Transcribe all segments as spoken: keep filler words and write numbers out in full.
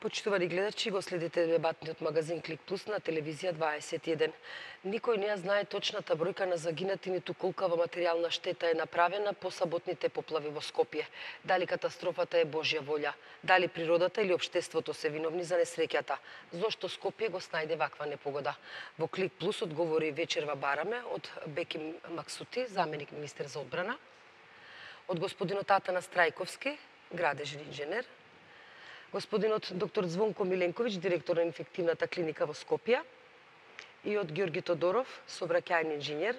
Почитувани гледачи, го следите дебатниот магазин Клик Плюс на телевизија дваесет и еден. Никој не ја знае точната бројка на загинати, ниту колкава материјална штета е направена по саботните поплави во Скопје. Дали катастрофата е Божја волја? Дали природата или општеството се виновни за несреќата? Зошто Скопје го снајде ваква непогода? Во Клик Плюс одговори вечерва бараме од Беким Максути, заменик министер за одбрана, од господинот Атанас Трајковски, градежен инженер, господинот доктор Звонко Миленковиќ, директор на инфективната клиника во Скопје, и од Ѓорги Тодоров, сообраќајен инженер.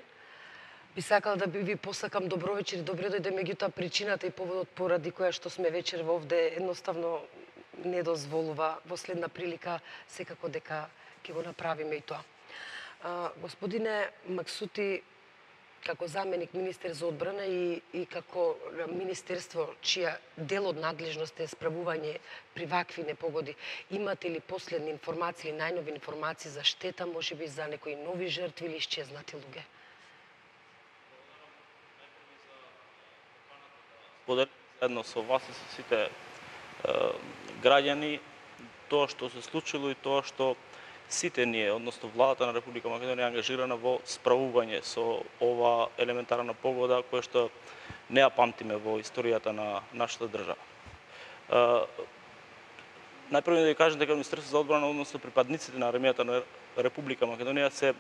Би сакал да ви посакам добро вечер и добре дојде, меѓутоа причината и поводот поради која што сме вечерва овде едноставно не дозволува во следна прилика секако дека ќе го направиме и тоа. А, господине Максути, како заменик министер за одбрана и, и како министерство чија дел од надлежност е справување при вакви непогоди, имате ли последни информации или најнови информации за штета, можеби за некои нови жртви или исчезнати луѓе? Поделам заедно со вас и со сите е, граѓани тоа што се случило и тоа што сите ние, односно владата на Република Македонија, ангажирана во справување со ова елементарна погода која што не ја памтиме во историјата на нашата држава. Најпрво да ви кажам дека Министерството за одбрана, односно припадниците на армијата на Република Македонија се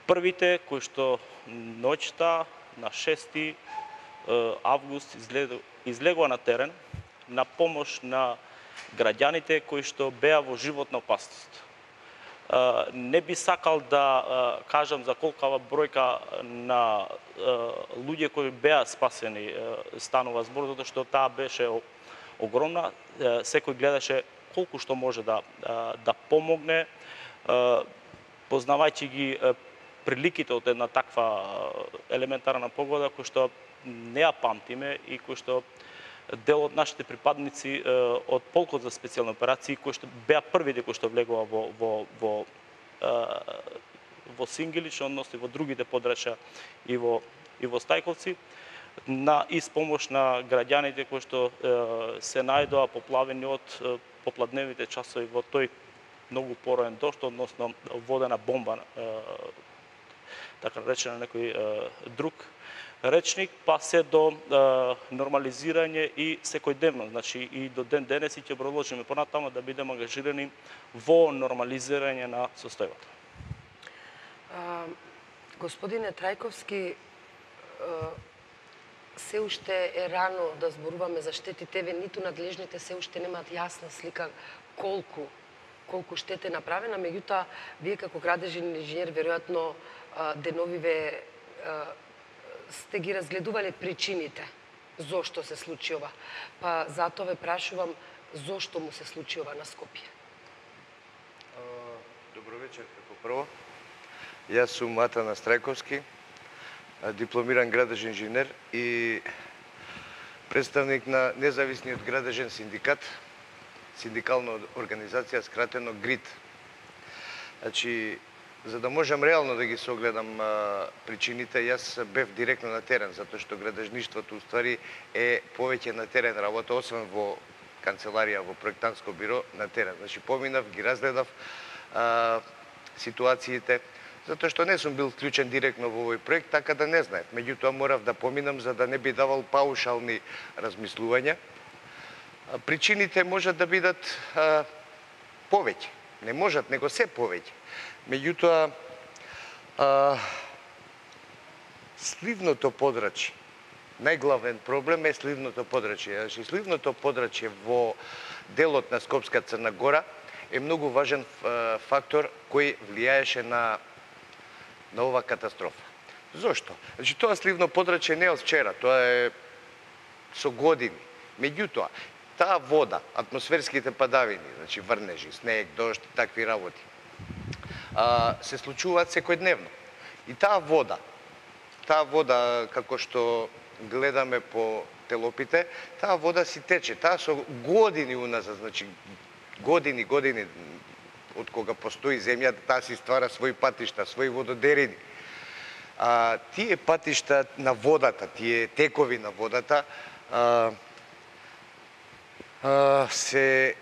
првите кои што ноќта на шести август излегува на терен на помош на граѓаните кои што беа во животна опасност. Не би сакал да кажам за колкава бројка на луѓе кои беа спасени станува збор, затоа што таа беше огромна. Секој гледаше колку што може да да помогне, познавајќи ги приликите од една таква елементарна погода која што не ја памтиме и кој што дел од нашите припадници од полкот за специјални операции кои што беа првите кои што влегува во во во во Сингилич, односно во другите подрачја и во и во Стајковци, на испомош на граѓаните кои што се најдоа поплавени од попладневните часови во тој многу пороен дожд, односно водена бомба, така речена некој друг речник, па се до е, нормализирање и секојдневно, значи и до ден денес и ќе продолжиме понатаму да бидеме ангажирани во нормализирање на состојбата. Господине Трајковски, се уште е рано да зборуваме за штетите, ве ниту надлежните се уште немаат јасна слика колку колку штета е направена, меѓутоа вие како градежен инженер веројатно деновиве сте ги разгледувале причините зошто се случи ова. Па затоа ве прашувам зошто му се случи ова на Скопје. Добро вечер како прво. Јас сум Атанас Трајковски, дипломиран градежен инженер и представник на независниот градежен синдикат, синдикална организација скратено ГРИД. Значи, за да можам реално да ги согледам а, причините, јас бев директно на терен, затоа што градежништвото уствари е повеќе на терен работа, освен во канцеларија, во проектантско биро, на терен. Значи, поминав, ги разгледав а, ситуациите, затоа што не сум бил вклучен директно во овој проект, така да не знаев. Меѓутоа морав да поминам за да не би давал паушални размислувања. А, причините можат да бидат а, повеќе. Не можат, него се повеќе. Меѓутоа, сливното подрачје, најглавен проблем е сливното подрачје. Значи, сливното подрачје во делот на Скопска Црна Гора е многу важен фактор кој влијаеше на, на ова катастрофа. Зошто? Значи, тоа сливно подрачје не е од вчера, тоа е со години. Меѓутоа, таа вода, атмосферските падавини, значи врнежи, снег, дожд и такви работи, се случуваат секојдневно. И таа вода, таа вода, како што гледаме по телопите, таа вода си тече, таа со години уназад, значи години, години, од кога постои земјата, таа си ствара своји патишта, своји вододерини. А, тие патишта на водата, тие текови на водата, а, а, се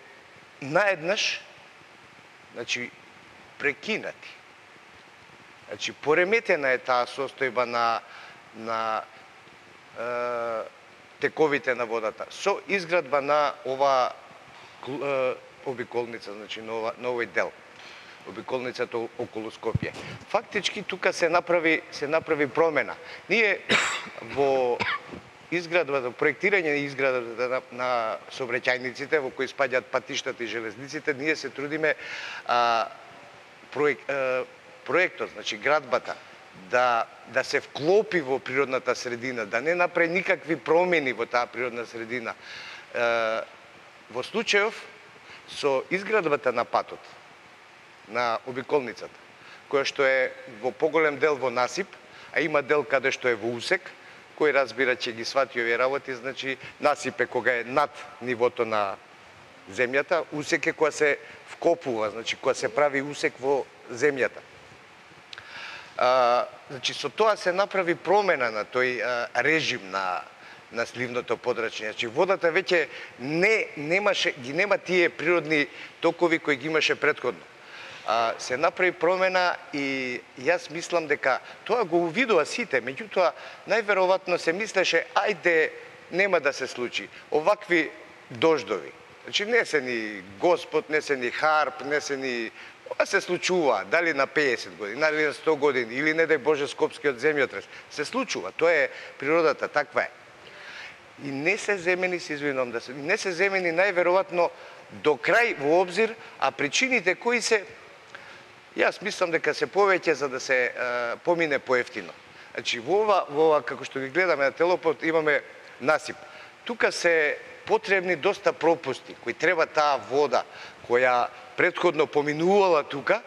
наеднаш, значи, прекинати. Значи, пореметена е таа состојба на, на е, тековите на водата со изградба на ова е, обиколница, значи на, ова, на овој дел, обиколницата околу Скопје. Фактички тука се направи се направи промена. Ние во изградбата, проектирање на изградбата на, на сообраќајниците во кои спаѓаат патиштата и железниците, ние се трудиме а, проект, а, проектот, значи градбата, да, да се вклопи во природната средина, да не направи никакви промени во таа природна средина. Е, во случајов, со изградбата на патот, на обиколницата, која што е во поголем дел во насип, а има дел каде што е во усек, кој разбира че ги свати овие работи, значи насип е кога е над нивото на земјата, усек е кога се вкопува, значи кога се прави усек во земјата. А, значи со тоа се направи промена на тој а, режим на на сливното подрачје. Значи водата веќе не немаше ги нема тие природни токови кои ги имаше претходно. А, се направи промена и јас мислам дека тоа го увидува сите, меѓутоа најверојатно се мислеше ајде нема да се случи овакви дождови. Значи не се ни Господ, не се ни харп, не се ни ова се случува, дали на пеесет години, дали на сто години, или не дај Боже скопскиот земјотрес. Се случува, тоа е природата, таква е. И не се земени, се извинувам да се, не се земени најверојатно до крај во обзир, а причините кои се, јас мислам дека се повеќе за да се е, помине поевтино. Значи во ова, во ова, како што ги гледаме на телопот, имаме насип. Тука се потребни доста пропусти, кои треба таа вода, која претходно поминувала тука,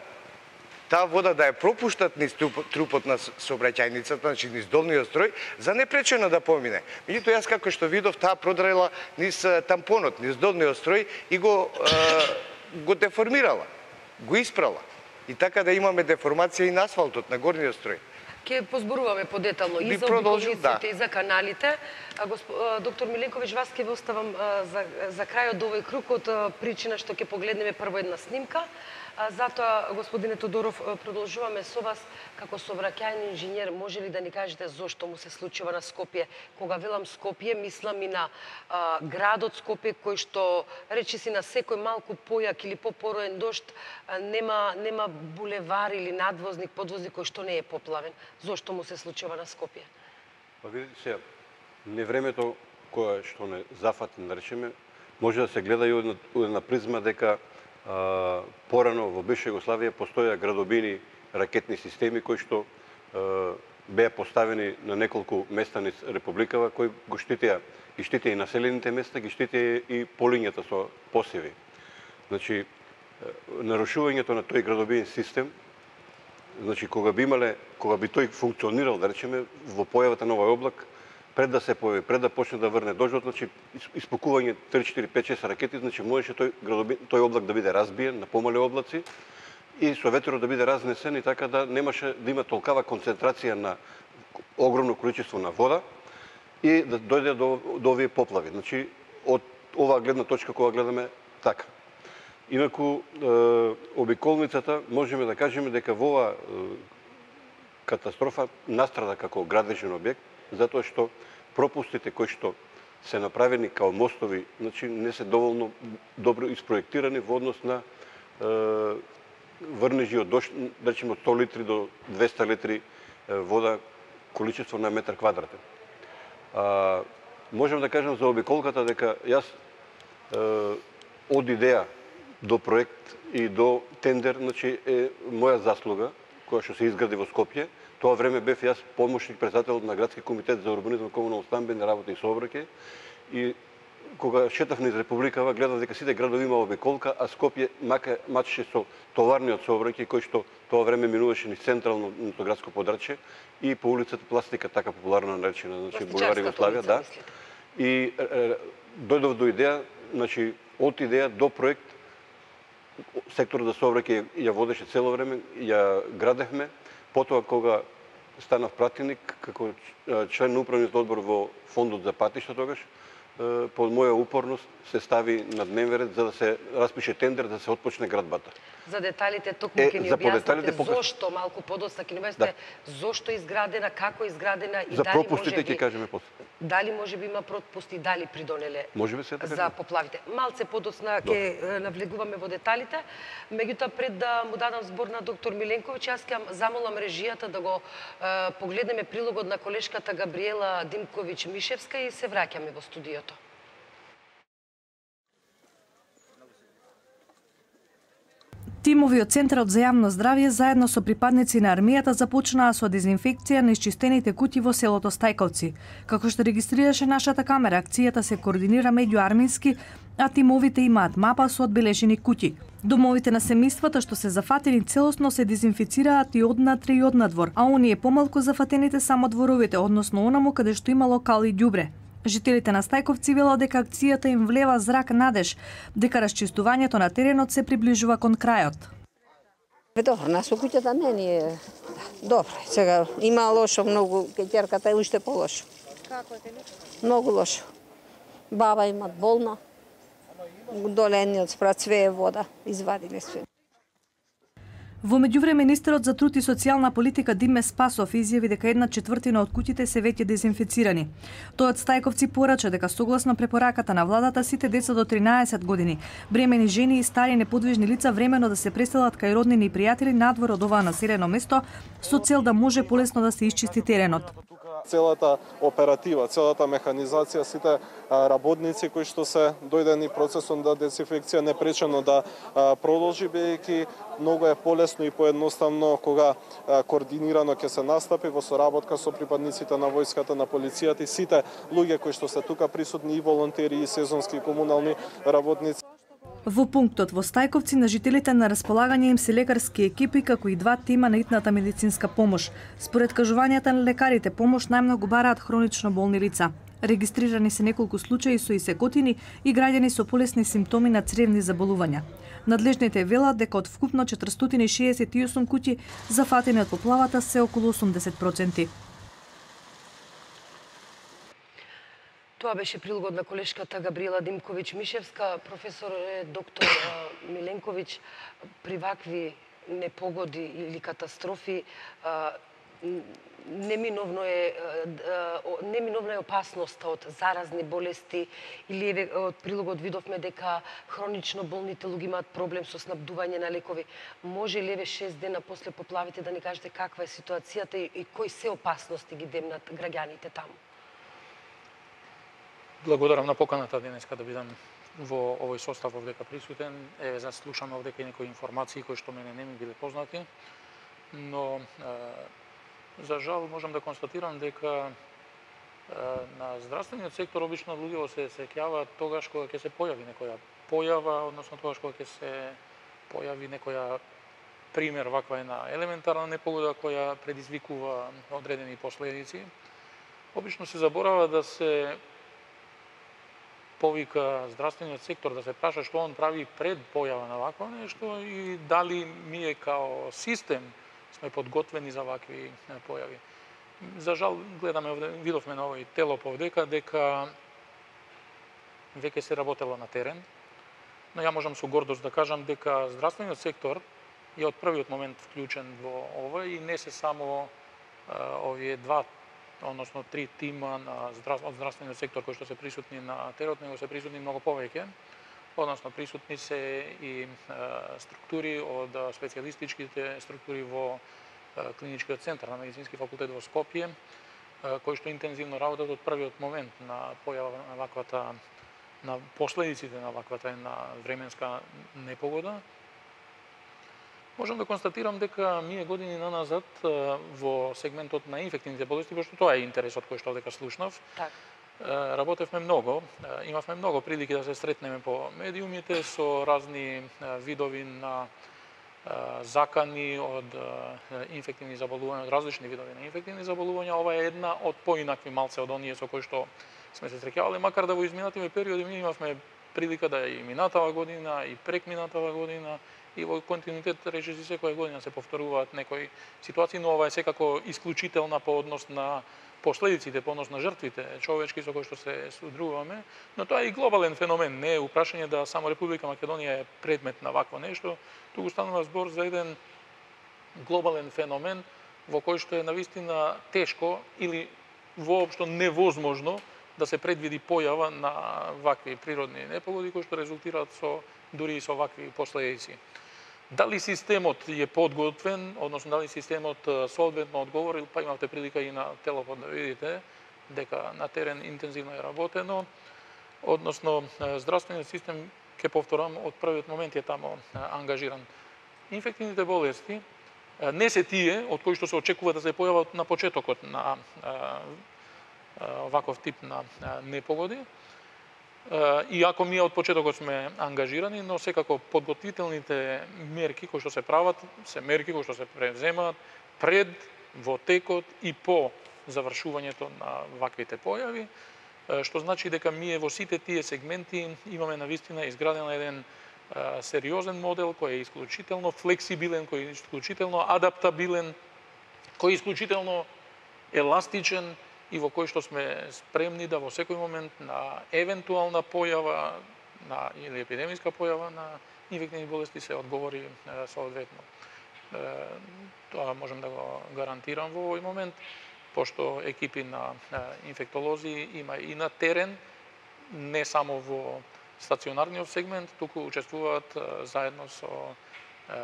таа вода да ја пропуштат низ трупот на сообраќајницата, значи низ долниот строј, за непречено да помине. Меѓутоа јас како што видов, таа продрела низ тампонот, низ долниот строј и го е, го деформирала, го испрала. И така да имаме деформација и на асфалтот на горниот строј. Ке позборуваме подетално и за обиколниците, да, и за каналите. А, госп... доктор Миленковиќ, вас ке ве оставам а, за, за крајот до овој круг од а, причина што ќе погледнеме прво една снимка. А, затоа, господине Тодоров, продолжуваме со вас како сообраќајни инженер. Може ли да ни кажете зошто му се случува на Скопје? Кога велам Скопје, мислам и на а, градот Скопје, кој што речиси на секој малку појак или попороен дожд а, нема нема булевар или надвозник, подвозник кој што не е поплавен. Зошто му се случува на Скопје? Па видите се, не времето кое што не зафати, наречеме, може да се гледа и од една призма дека а, порано во бивша Југославија постоја градобини ракетни системи кои што а, беа поставени на неколку места низ републикава, кои го штитеа и штитеа и населените места, ги штитеа и полињата со посеви. Значи, нарушувањето на тој градобин систем, значи кога би имале, кога би тој функционирал, да речеме, во појавата на овој облак, пред да се појави, пред да почне да врне дождот, значи испукување три, четири, пет, шест ракети, значи можеше тој градобин, тој облак да биде разбиен на помали облаци и со ветерот да биде разнесен и така да немаше да има толкава концентрација на огромно количество на вода и да дојде до, до овие поплави. Значи од оваа гледна точка кога гледаме така. Инаку, е, обиколницата, можеме да кажеме дека во оваа е, катастрофа настрада како градежен објект, затоа што пропустите кои што се направени као мостови, значи не се доволно добро испроектирани во однос на е, врнежи од дожд, да речеме од сто литри до двесте литри е, вода количество на метар квадратен. А, можем да кажем за обиколката дека јас е, од идеја до проект и до тендер, значи е моја заслуга која што се изгради во Скопје. Тоа време бев јас помошник председател на градски комитет за урбанизам, комунално стамбени работи и сообраќај и кога шетав низ републикава гледав дека сите градови има обиколка, а Скопје мака мачеше со товарниот сообраќај кој што тоа време минуваше низ централното градско подрачје и по улицата Пластика, така популарно наречена, значи булевар Југославија, да. И е, дојдов до идеја, значи од идеја до проект. Секторот за сообраќај ја водеше цело време, ја градевме. Потоа кога станав пратеник како член на управниот одбор во фондот за патишта тогаш, по моја упорност се стави на дневен ред за да се распише тендер да се отпочне градбата. За деталите токму Е, ќе ни за објасните подеталите покажа- зошто малку подоцна ќе ни објасните Да. зошто е изградена, како е изградена и За дали пропустите можеби ќе кажеме после. дали можеби има пропусти, дали придонеле Можеби се така за кажеме. поплавите. Малце подоцна ќе е, навлегуваме во деталите. Меѓутоа пред да му дадам збор на доктор Миленковиќ, јас ќе замолам режијата да го е, погледнеме прилогот на колешката Габриела Димковиќ-Мишевска и се враќаме во студиото. Тимови од Центарот за јавно здравје заедно со припадници на армијата започнаа со дезинфекција на исчистените куќи во селото Стајковци. Како што регистрираше нашата камера, акцијата се координира меѓуармински, а тимовите имаат мапа со одбележени куќи. Домовите на семејствата што се зафатени целосно се дезинфицираат и однатре и однадвор, а оние помалку зафатените само дворовите, односно онаму каде што имало кал и ѓубре. Жителите на Стајковци велат дека акцијата им влева зрак надеж, дека расчистувањето на теренот се приближува кон крајот. Добро, нас у куќата не ни е добро. Сега има лошо многу, кеќерката е уште полошо. Како е тебе? Многу лошо. Баба имат болна. Долениот спрат све е вода, извадиле све. Во меѓувреме министерот за труд и социјална политика Диме Спасов изјави дека една четвртина од куќите се веќе дезинфицирани. Тој од Стајковци порача дека согласно препораката на владата сите деца до тринаесет години, бремени жени и стари неподвижни лица времено да се преселат кај роднини и пријатели надвор од оваа населено место со цел да може полесно да се исчисти теренот. Целата оператива, целата механизација, сите работници кои што се дојдени процесот да дезинфекција непречено да продолжи, бидејќи многу е полесно и поедноставно кога координирано ќе се настапи во соработка со припадниците на војската, на полицијата и сите луѓе кои што се тука присутни, и волонтери, и сезонски и комунални работници. Во пунктот во Стајковци на жителите на располагање им се лекарски екипи како и два тима на итната медицинска помош. Според кажувањата на лекарите, помош најмногу бараат хронично болни лица. Регистрирани се неколку случаи со исекотини и граѓани со полесни симптоми на цревни заболувања. Надлежните велат дека од вкупно четиристотини шеесет и осум куќи зафатени од поплавата се околу осумдесет проценти. Тоа беше прилогот на колешката Габриела Димковиќ-Мишевска. Професор доктор Миленковиќ, при вакви непогоди или катастрофи неминовно е неминовна е опасноста од заразни болести или еве од прилогот видовме дека хронично болните луѓе имаат проблем со снабдување на лекови. Може ли еве шест дена после поплавите да ни кажете каква е ситуацијата и, и кои се опасности ги демнат граѓаните таму? Благодарам на поканата денеска да бидам во овој состав овдека присутен. Еве заслушам овдека и некои информации кои што мене не ми биле познати, но е, за жал можам да констатирам дека е, на здравствениот сектор обично луѓе се сеќаваат тогаш кога ќе се појави некоја појава, односно тогаш кога ќе се појави некоја пример ваква една елементарна непогода која предизвикува одредени последици. Обично се заборава да се повика здравствениот сектор, да се праша што он прави пред појава на вакво нешто и дали ние као систем сме подготвени за вакви појави. За жал гледаме овде, видовме на овој телоп овдека дека веќе се работело на терен, но ја можам со гордост да кажам дека здравствениот сектор е од првиот момент вклучен во ова и не се само а, овие два односно три тима на здрав... од здравствениот сектор кои што се присутни на теренот, него се присутни многу повеќе. Односно присутни се и е, структури од специјалистичките структури во е, клиничкиот центар на медицински факултет во Скопје, е, кои што интензивно работат од првиот момент на појава на ваквата на последиците на ваквата една временска непогода. Можам да констатирам дека ние години наназад во сегментот на инфективните болести, пошто тоа е интересот кој што дека слушнав, Так. работевме многу. Имавме многу прилики да се сретнеме по медиумите со разни видови на закани од инфективни заболувања, од различни видови на инфективни заболувања. Ова е една од поинакви малце од оние со кои што сме се среќавале, макар да во изминативе периоди ние имавме прилика да и минатава година, и прек минатава година, и во континуитет речиси секоја година се повторуваат некои ситуации, но ова е секако исклучителна по однос на последиците, понос на жртвите човечки со кои што се содружуваме, но тоа е и глобален феномен, не е упрашање да само Република Македонија е предмет на вакво нешто, туку станува збор за еден глобален феномен во кој што е навистина тешко или воопшто невозможно да се предвиди појава на вакви природни непогоди кои што резултираат со дури и со вакви последици. Дали системот е подготвен, односно дали системот соодветно одговорил, па имавте прилика и на Телопод да видите дека на терен интензивно е работено, односно здравствениот систем, ќе повторам, од првиот момент е тамо ангажиран. Инфективните болести не се тие од кои што се очекува да се појават на почетокот на ваков тип на непогоди. Иако ние од почетокот сме ангажирани, но секако подготвителните мерки кои што се прават, се мерки кои што се превземаат пред, во текот и по завршувањето на ваквите појави, што значи дека ние во сите тие сегменти имаме навистина изграден еден сериозен модел кој е исклучително флексибилен, кој е исклучително адаптабилен, кој е исклучително еластичен и во кој што сме спремни да во секој момент на евентуална појава на или епидемиска појава на инфективни болести се одговори соодветно. Тоа можем да го гарантирам во овој момент, пошто екипи на инфектолози има и на терен, не само во стационарниот сегмент, туку учествуваат заедно со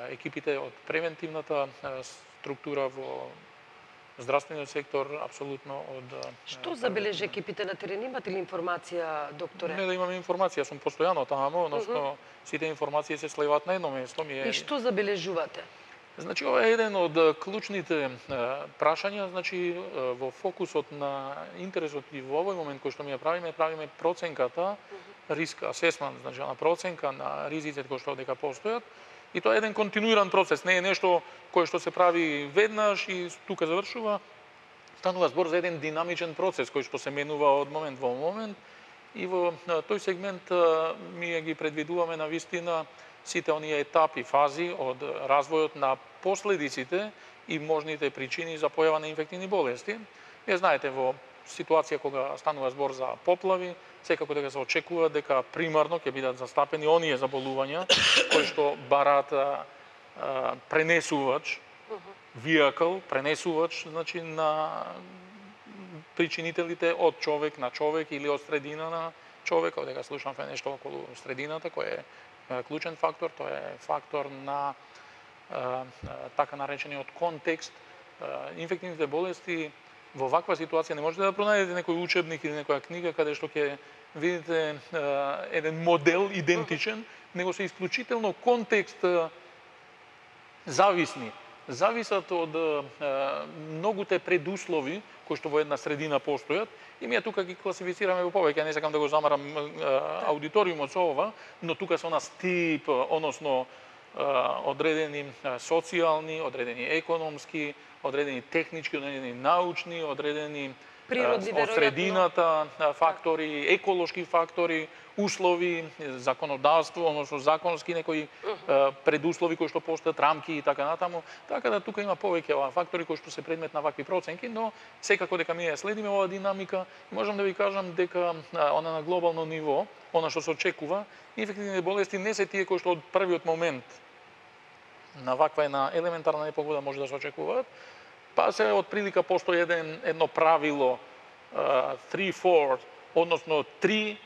екипите од превентивната структура во здравствениот сектор, апсолутно од... Што забележи екипите на терен? Имате ли информација, докторе? Не да имаме информација, сум постојано таму, односно сите информации се слеваат на едно место. Ми е... И што забележувате? Значи, ова е еден од клучните прашања, значи, во фокусот на интересот и во овој момент кој што ми ја правиме, правиме проценката, риск асесмент, значи, на проценка на ризиците кои што дека постојат, и тоа е еден континуиран процес, не е нешто кое што се прави веднаш и тука завршува. Станува збор за еден динамичен процес кој што се менува од момент во момент и во тој сегмент ние ги предвидуваме на вистина сите оние етапи, фази од развојот на последиците и можните причини за појава на инфективни болести. Вие знаете, во ситуација кога станува збор за поплави, секако дека се очекува дека примарно ќе бидат застапени оние заболувања кои што бараат пренесувач, vehicle, пренесувач, значи на причинителите од човек на човек или од средина на човек, дека слушаме нешто околу средината, кој е клучен фактор, тоа е фактор на така наречениот контекст. Инфективните болести во ваква ситуација не можете да пронајдете некој учебник или некоја книга каде што ќе видите еден модел идентичен, него се исклучително контекст зависни. Зависат од многуте предуслови кои што во една средина постојат и ние тука ги класифицираме во повеќе, не сакам да го замарам аудиториумот со ова, но тука се нас тип, односно одредени социјални, одредени економски, одредени технички, одредени научни, одредени од средината фактори, еколошки фактори, услови, законодавство, односно законски некои предуслови кои што постојат, рамки и така натаму. Така да тука има повеќе фактори кои што се предмет на вакви проценки, но секако дека ние следиме оваа динамика и можам да ви кажам дека она на глобално ниво, она што се очекува, инфективните болести не се тие кои што од првиот момент на ваква една елементарна непогода може да се очекуваат, па се од прилика постои еден, едно правило три четири, односно три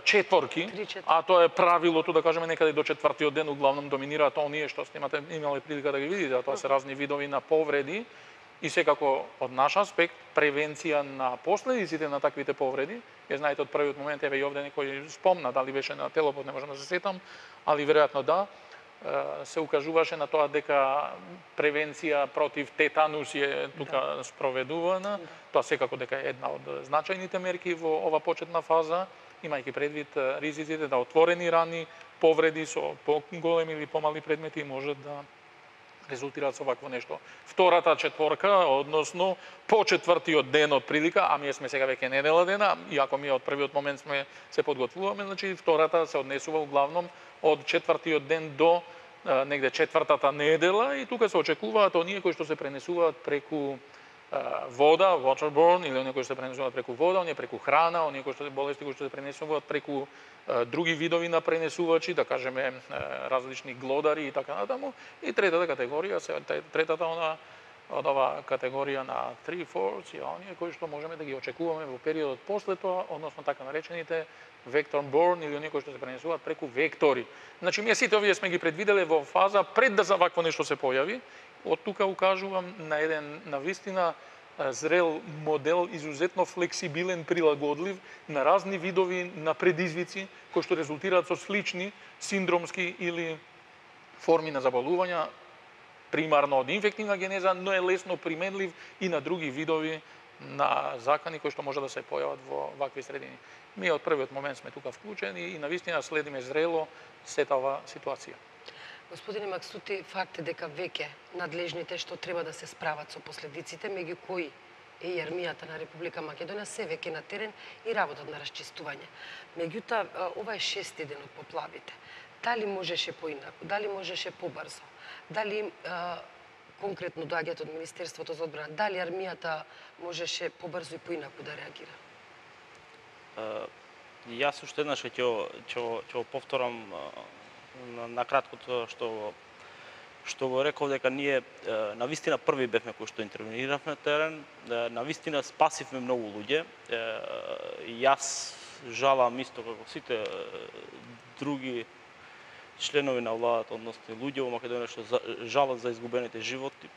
четворки, а тоа е правилото, да кажеме, некаде до четвртиот ден углавном доминираат оние што снимате, имале прилика да ги видите, а тоа се разни видови на повреди и секако од наш аспект превенција на последиците на таквите повреди. Ја знаете од првиот момент, еве и овде некој спомна, дали беше на Телопод, не можам да се сетам, али веројатно да, се укажуваше на тоа дека превенција против тетанус е тука спроведувана. Тоа секако дека е една од значајните мерки во ова почетна фаза, имајќи предвид ризиците да отворени рани, повреди со поголеми или помали предмети можат да резултираат со вакво нешто. Втората четворка, односно по четвртиот ден од прилика, а ние сме сега веќе недела дена, иако ние од првиот момент сме се подготвуваме, значи втората се однесува углавном од четвртиот ден до негде четвртата недела и тука се очекуваат оние кои што се пренесуваат преку вода, waterborne, или оние кои што се пренесуваат преку вода, оние преку храна, оние кои што се болести кои што се пренесуваат преку други видови на пренесувачи, да кажеме различни глодари и така натаму. И третата категорија, се третата она од ова категорија на три fours, и оние кои што можеме да ги очекуваме во периодот после тоа, односно така наречените vector-borne или оние кои што се пренесуваат преку вектори. Значи, ние сите овие сме ги предвиделе во фаза пред да за вакво нешто се појави. Од тука укажувам на еден навистина зрел модел, изузетно флексибилен, прилагодлив на разни видови на предизвици кои што резултираат со слични синдромски или форми на заболувања, примарно од инфективна генеза, но е лесно применлив и на други видови на закани кои што може да се појават во вакви средини. Ние од првиот момент сме тука вклучени и навистина следиме зрело сета ова ситуација. Господине Максути, факт е дека веќе надлежните што треба да се справат со последиците, меѓу кои е и армијата на Република Македонија, се веќе на терен и работат на расчистување. Меѓутоа, ова е шести ден од поплавите. Дали можеше поинаку, дали можеше побрзо, дали а, конкретно доаѓаат од Министерството за одбрана, дали армијата можеше побрзо и поинаку да реагира? Uh, јас уште еднаш ќе ќе ќе повторам на, на краткото што што го реков, дека ние навистина први бевме кои што интервениравме на терен, навистина спасивме многу луѓе. Јас жалам исто како сите други членови на владата, односно луѓе во Македонија што жалат за изгубените животи,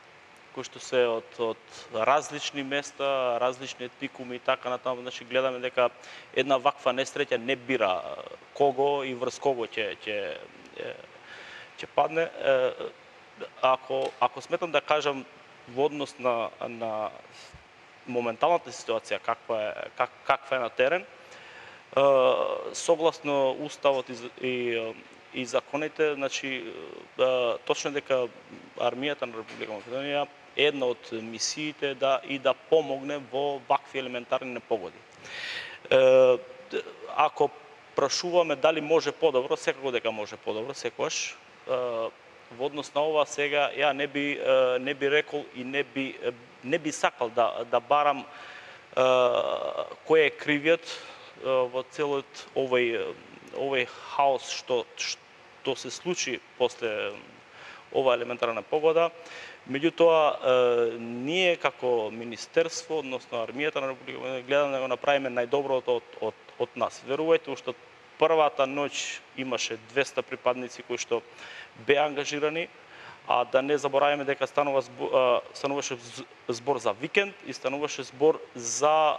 кои што се од, од различни места, различни етникуми и така натаму. Значи, гледаме дека една ваква несреќа не бира кого и врз кого ќе ќе ќе падне. Ако ако сметам да кажам во однос на на моменталната ситуација каква е как, каква е на терен, согласно уставот и, и и законите, значи точно дека армијата на Република Македонија е една од мисиите да и да помогне во вакви елементарни непогоди. Ако прашуваме дали може подобро, секако дека може подобро, секогаш. Во однос на ова сега ја не би не би рекол и не би не би сакал да да барам кој е кривиот во целиот овој овој хаос што што се случи после ова елементарна погода. Меѓутоа, ние како министерство, односно армијата на Република Македонија, гледаме да го направиме најдоброто од од од нас. Верувајте, уште првата ноќ имаше двеста припадници кои што беа ангажирани, а да не забораваме дека станува збор, стануваше збор за викенд и стануваше збор за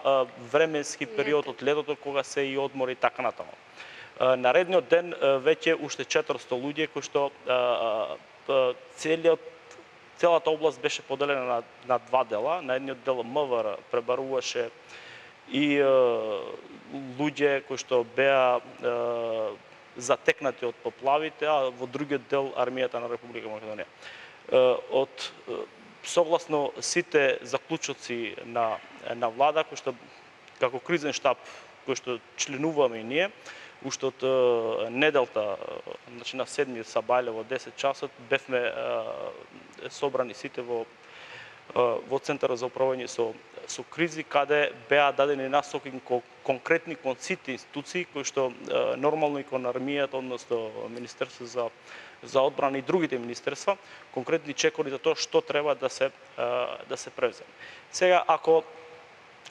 временски период од летото кога се и одмори и така натаму. Наредниот ден веќе уште четиристо луѓе кои што целиот целата област беше поделена на, на два дела. На едниот дел МВР пребаруваше и е, луѓе кои што беа е, затекнати од поплавите, а во другиот дел армијата на Република Македонија. Е, од согласно сите заклучоци на на влада кои што како кризен штаб кој што членуваме и ние, уште од неделта, значи на седми сабајле во десет часот, бевме е, собрани сите во во Центарот за управување со со кризи, каде беа дадени насоки кон конкретни кон сите институции кои што е, нормално и кон армијата, односно Министерство за за одбрана и другите министерства, конкретни чекори за тоа што треба да се е, да се превземе. Сега ако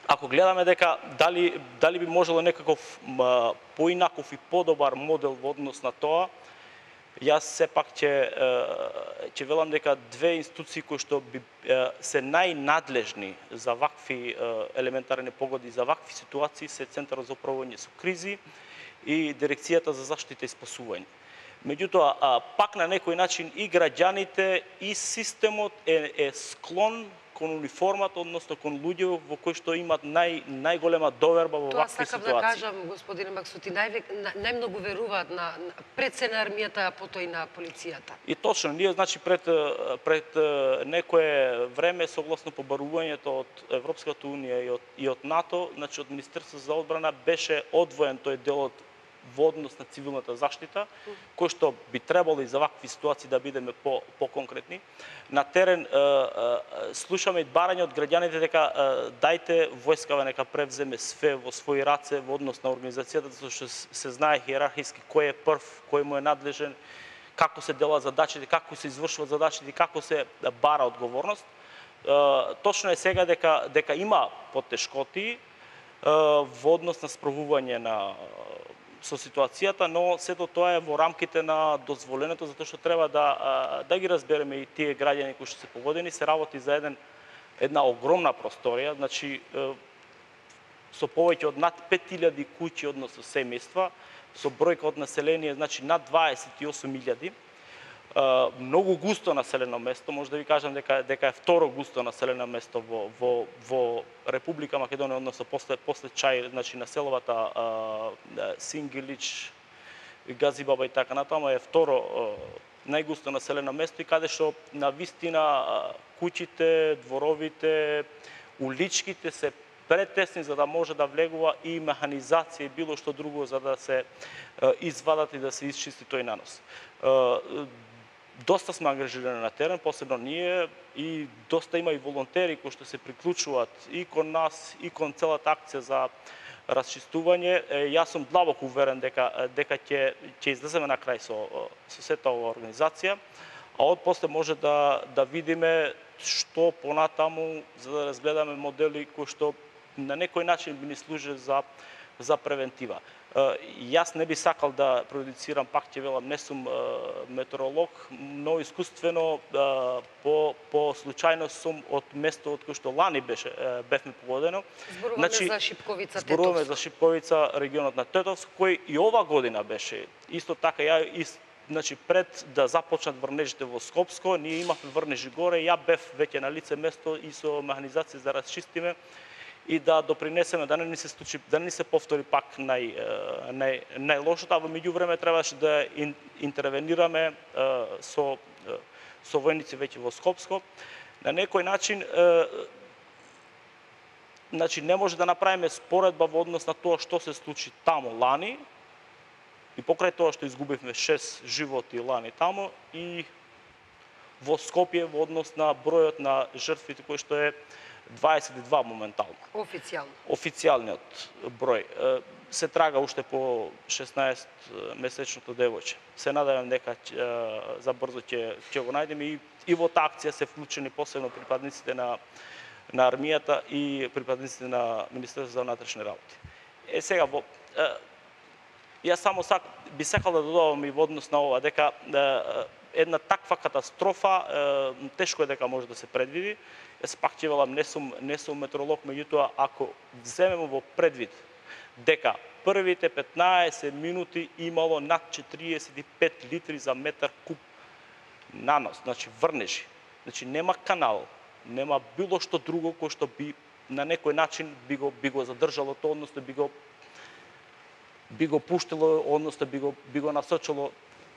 Ако гледаме дека дали дали би можело некаков поинаков и подобар модел во однос на тоа, јас сепак ќе ќе велам дека две институции кои што би се најнадлежни за вакви елементарни погоди, за вакви ситуации се Центарот за управување со кризи и Дирекцијата за заштита и спасување. Меѓутоа, пак на некој начин и граѓаните и системот е, е склон кон униформата, односно кон луѓе во кои што имаат нај најголема доверба во вакви ситуации. Тоа сакам да кажам, господине Максути, нај, најмногу веруваат на, на пред се на армијата, а потоа и на полицијата. И точно, ние значи пред пред некое време согласно побарувањето од Европската унија и од и од НАТО, значи од Министерството за одбрана беше одвоен тој дел од во однос на цивилната заштита, кој што би требало и за вакви ситуации да бидеме по по-конкретни. На терен слушаме барање од граѓаните дека дајте војскава нека превземе све во своји раце во однос на организацијата, затоа што се знае иерархиски кој е прв, кој му е надлежен, како се делат задачите, како се извршуваат задачите, како се бара одговорност. Точно е сега дека дека има поттешкоти во однос на справување на со ситуацијата, но сето тоа е во рамките на дозволеното, затоа што треба да да ги разбереме и тие граѓани кои што се погодени, се работи за еден една огромна просторија, значи со повеќе од над пет илјади куќи, односно семејства, со бројка од население, значи над дваесет и осум илјади. Многу густо населено место, може да ви кажам дека дека е второ густо населено место во во во Република Македонија, односно после после Чај, значи населовата Сингилич, Газибаба и така натаму е второ најгусто населено место и каде што на вистина куќите, дворовите, уличките се претесни за да може да влегува и механизација и било што друго за да се извадат и да се исчисти тој нанос. Доста сме ангажирани на терен, посебно ние, и доста има и волонтери кои што се приклучуваат и кон нас, и кон целата акција за расчистување. Јас сум длабоко уверен дека дека ќе ќе излеземе на крај со со сета ова организација, а од после може да да видиме што понатаму за да разгледаме модели кои што на некој начин би ни служи за за превентива. Јас не би сакал да продуцирам, пак ќе велам, не сум метеоролог, но искуствено по по случајност сум од место од кој што лани беше бевме погодено. Зборуваме значи, за Шипковица, Тетовско. Зборуваме за Шипковица, регионот на Тетовско, кој и ова година беше исто така ја и значи пред да започнат врнежите во Скопско, ние имавме врнежи горе, ја бев веќе на лице место и со механизација за расчистиме и да допринесеме да не ни се случи, да не ни се повтори пак нај нај најлошото, а во меѓувреме требаше да интервенираме со со војници веќе во Скопско. На некој начин значи не може да направиме споредба во однос на тоа што се случи таму лани и покрај тоа што изгубивме шест животи лани таму и во Скопје во однос на бројот на жртвите кој што е дваесет и два моментално. Официјално. Официјалниот број. Се трага уште по шеснаесет месечното девојче. Се надевам дека за брзо ќе ќе го најдеме и и во таа акција се вклучени посебно припадниците на на армијата и припадниците на Министерството за внатрешни работи. Е сега во јас само сак би сакал да додавам и во однос на ова дека една таква катастрофа тешко е дека може да се предвиди. Јас пак ќе велам, не сум не сум метеоролог, меѓутоа ако земеме во предвид дека првите петнаесет минути имало над четириесет и пет литри за метар куб нанос, значи врнежи. Значи нема канал, нема било што друго кој што би на некој начин би го би го задржало тоа, односно би го би го пуштило, односно би го би го насочило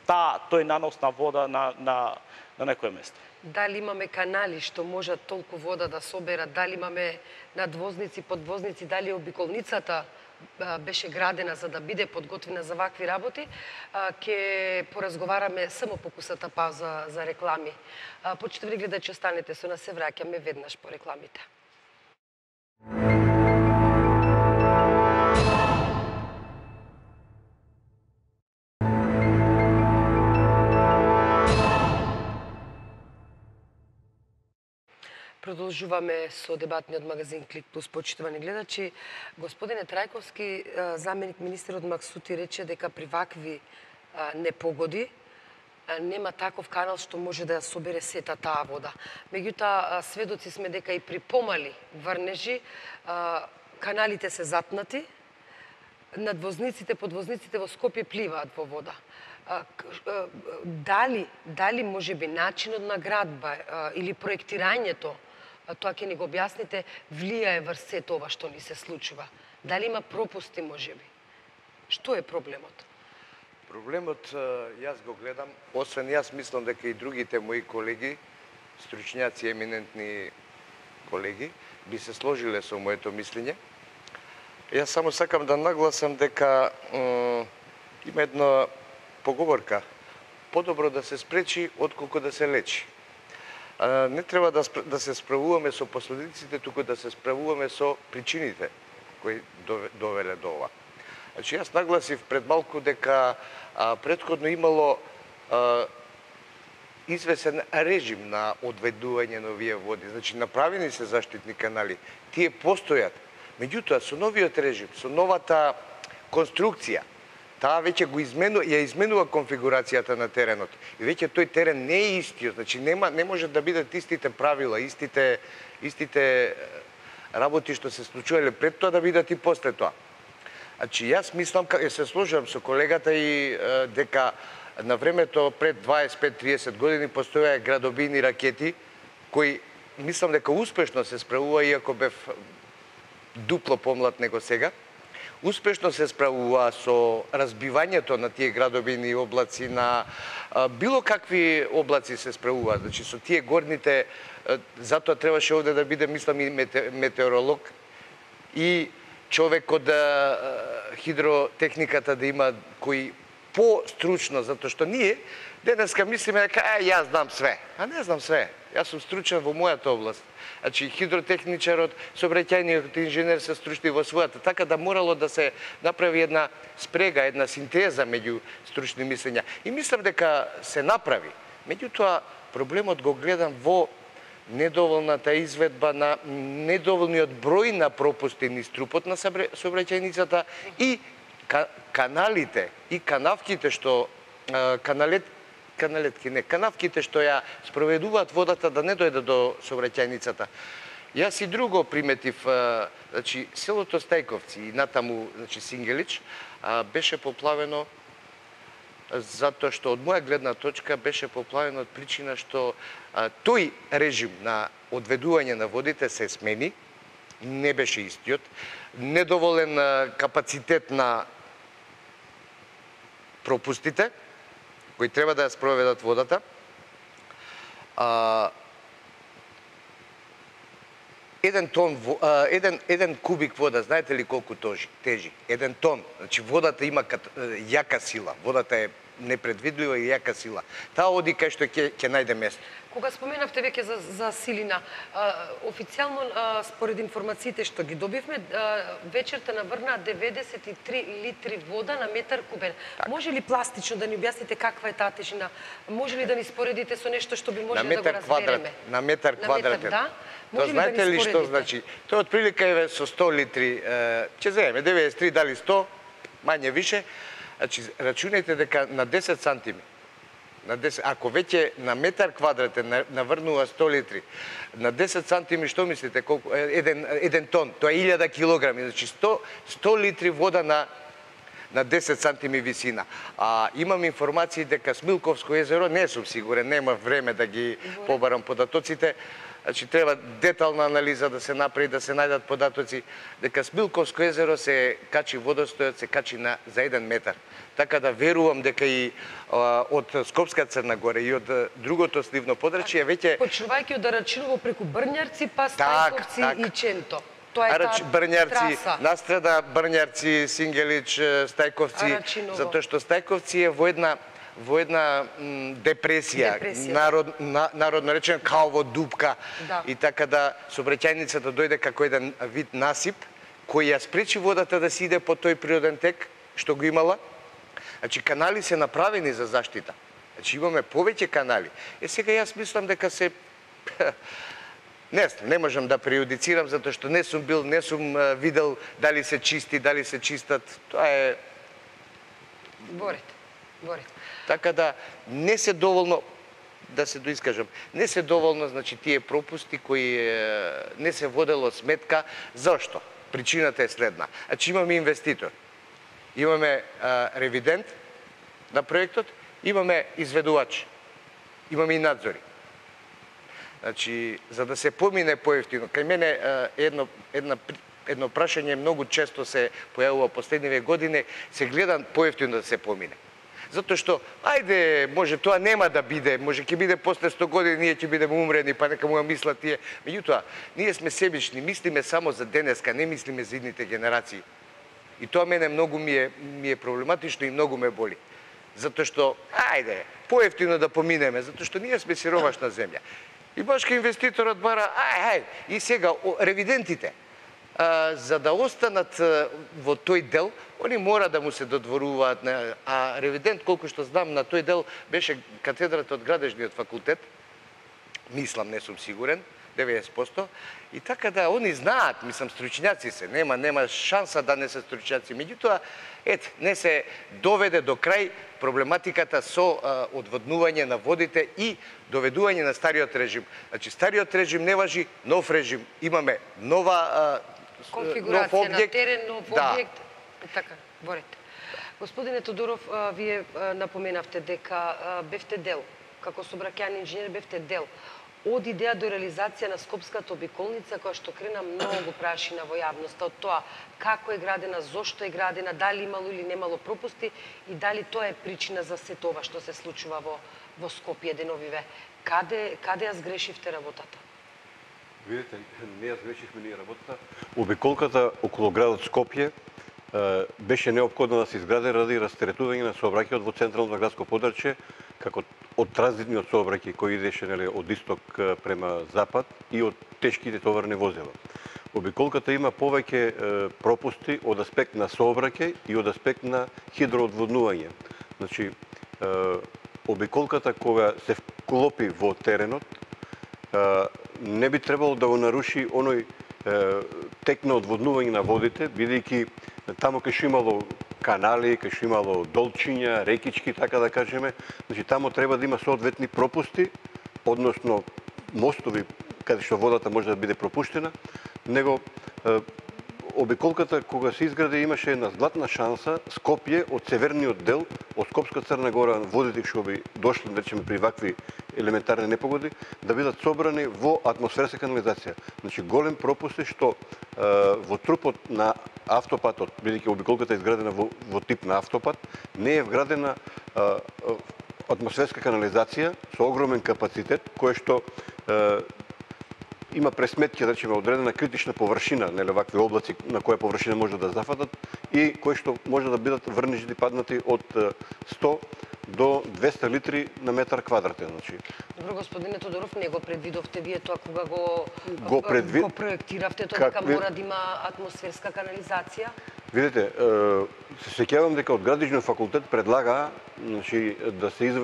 та тој нанос на вода на на на некое место. Дали имаме канали што можат толку вода да соберат, дали имаме надвозници, подвозници, дали обиколницата беше градена за да биде подготвена за вакви работи, ќе поразговараме само по кусата пауза за реклами. Почитувани гледачи, останете со нас, се враќаме веднаш по рекламите. Продолжуваме со дебатниот магазин Клик Плюс, почитувани гледачи. Господине Трајковски, заменик министерот Максути рече дека при вакви непогоди нема таков канал што може да ја собере сета таа вода. Меѓутоа, сведоци сме дека и при помали врнежи каналите се затнати, надвозниците, подвозниците во Скопје пливаат во вода. Дали, дали може би начинот на градба или проектирањето, тоа ќе ни го објасните, влијае врз сето ова што ни се случува? Дали има пропусти можеби? Што е проблемот? Проблемот, јас го гледам, освен јас мислам дека и другите мои колеги, стручњаци, еминентни колеги, би се сложиле со моето мислење. Јас само сакам да нагласам дека Има една поговорка: подобро да се спречи отколку да се лечи. А, не треба да, да се справуваме со последиците, туку да се справуваме со причините кои довеле до ова. Значи, јас нагласив пред малку дека а, претходно имало а, извесен режим на одведување на овие води. Значи, направени се заштитни канали, тие постојат. Меѓутоа, со новиот режим, со новата конструкција, таа веќе го изменува, ја изменува конфигурацијата на теренот. И веќе тој терен не е истиот, значи нема не може да бидат истите правила, истите истите работи што се случувале пред тоа да бидат и после тоа. Значи јас мислам, ја се сложувам со колегата и е, дека на времето пред дваесет пет триесет години постојаа градобини ракети кои мислам дека успешно се справува, иако бев дупло помлад него сега. Успешно се справува со разбивањето на тие градобини облаци, на а, било какви облаци се справува. Значи со тие горните, а, затоа требаше овде да биде, мислам, и метеоролог и човек од а, хидротехниката да има кои по-стручно, затоа што ние денеска мислиме дека а, јас знам све. А не знам све. Јас сум стручен во мојата област. Значи, хидротехничарот, сообраќајниот инженер се стручни во својата, така да морало да се направи една спрега, една синтеза меѓу стручни мислења. И мислам дека се направи. Меѓутоа, проблемот го гледам во недоволната изведба на недоволниот број на пропусти низ трупот на сообраќајницата и каналите и канавките што каналет каналетки, не, канавките што ја спроведуваат водата да не дојде до сообраќајницата. Јас и друго приметив, значи селото Стајковци и натаму, значи Сингелич, беше поплавено затоа што од моја гледна точка беше поплавено од причина што тој режим на одведување на водите се смени, не беше истиот, недоволен капацитет на пропустите кои треба да ја спроведат водата. А, еден тон, а, еден, еден кубик вода, знаете ли колку тожи, тежи? Еден тон. Значи водата има кат, јака сила. Водата е непредвидлива и јака сила. Таа оди кај што ќе ќе најде место. Кога споменавте веќе за, за силина, а, официјално а, според информациите што ги добивме, а, вечерта наврнаа деветдесет и три литри вода на метар кубен. Так. Може ли пластично да ни објасните каква е таа тежина? Може ли да ни споредите со нешто што би можеле да го разбереме? На метар квадратен. Да? Може знаете да ли што значи? Тоа отприлика е со сто литри, е, ќе земеме деветдесет и три дали сто, мање више. Значи рачунајте дека на десет сантими, на десет, ако веќе на метар квадратен наврнува сто литри, на десет сантими што мислите колку еден еден тон, тоа е илјада килограми, значи сто, сто литри вода на на десет сантими висина. А имам информации дека Смилковско езеро, не сум сигурен, нема време да ги побарам податоците. Значи треба детална анализа да се направи, да се најдат податоци дека Смилковско езеро се качи водостојот, се качи на за еден метар. Така да верувам дека и а, од Скопска Црна Гора и од другото сливно подрачје веќе почнувајќи од Арачиново преку Брњарци па Стајковци так, так. и Ченто. Тоа е Арач, таа Брњарци, траса. Настреда Брњарци, Сингелич, Стајковци, Арачиново. Затоа што Стајковци е во една во една м, депресија, депресија. Народ, на, народно речено као во дупка, да. И така да сообраќајницата дојде како еден вид насип кој ја спречи водата да си иде по тој природен тек што го имала. Значи канали се направени за заштита. Значи имаме повеќе канали. Е сега јас мислам дека се не знам, не можам да преюдицирам затоа што не сум бил, не сум видел дали се чисти, дали се чистат. Тоа е Борите. Борите. Така да не се доволно, да се доискажам, не се доволно, значи, тие пропусти кои е, не се водело сметка. Зошто? Причината е следна. Значи имаме инвеститор, имаме а, ревидент на проектот, имаме изведувач, имаме и надзори. Значи, за да се помине поевтино, кај мене а, едно, една едно прашање многу често се појавува последниве години, се гледа поевтино да се помине. Затоа што, ајде, може тоа нема да биде, може ќе биде после сто години, ние ќе бидеме умрени, па нека му ја мислат тие. Меѓутоа, ние сме себични, мислиме само за денеска, не мислиме за идните генерации. И тоа мене многу ми е, ми е проблематично и многу ме боли. Затоа што, ајде, поевтино да поминеме, затоа што ние сме сиромашна земја. И башка инвеститорот бара, ај, ај, и сега ревидентите, а, за да останат а, во тој дел, они мора да му се додворуваат, а ревидент, колку што знам, на тој дел беше катедрата од градежниот факултет, мислам, не сум сигурен, деветдесет проценти, и така да, они знаат, мислам, стручњаци се, нема, нема шанса да не се стручњаци. Меѓутоа, ет, не се доведе до крај проблематиката со а, одводнување на водите и доведување на стариот режим. Значи, стариот режим не важи, нов режим. Имаме нова а, конфигурација нов објект. на терен, нов да. објект. Така, борете. Господине Тодоров, а, вие а, напоменавте дека а, бевте дел, како сообраќајен инженер бевте дел од идеја до реализација на Скопската обиколница, која што крена многу прашина во јавноста од тоа како е градена, зошто е градена, дали имало или немало пропусти и дали тоа е причина за се тоа што се случува во, во Скопје деновиве. Каде, каде ја сгрешивте работата? Видите, не ја сгрешивме ние работата. Обиколката околу градот Скопје беше неопходно да се изгради ради растеретување на сообраќајот во централното градско подрачје, како од транзитниот сообраќај кој идеше, нели, од исток према запад и од тешките товарни возила. Обиколката има повеќе пропусти од аспект на сообраќај и од аспект на хидроодводнување. Значи, обиколката кога се вклопи во теренот, не би требало да го наруши оној тек на одводнување на водите, бидејќи таму кај што имало канали, кај што имало долчиња, рекички, така да кажеме, значи таму треба да има соодветни пропусти, односно мостови каде што водата може да биде пропуштена, него обиколката кога се изгради имаше една златна шанса Скопје од северниот дел, од Скопска Црна Гора, водите што би дошли, да речеме, при вакви елементарни непогоди, да бидат собрани во атмосферска канализација. Значи голем пропуст е што е, во трупот на автопатот, бидејќи обиколката е изградена во, во тип на автопат, не е вградена е, атмосферска канализација со огромен капацитет, кој што е, има пресметки, да речеме, одредена критична површина, нели, вакви облаци на која површина може да зафатат и кои што може да бидат врнежи паднати од сто до двесте литри на метар квадратен. Значи. Добро, господине Тодоров, не го предвидовте вие тоа кога го, го, предвид... го проектиравте тоа дека мора да има атмосферска канализација? Видите, се сеќавам дека од градежниот факултет предлага, значи, да се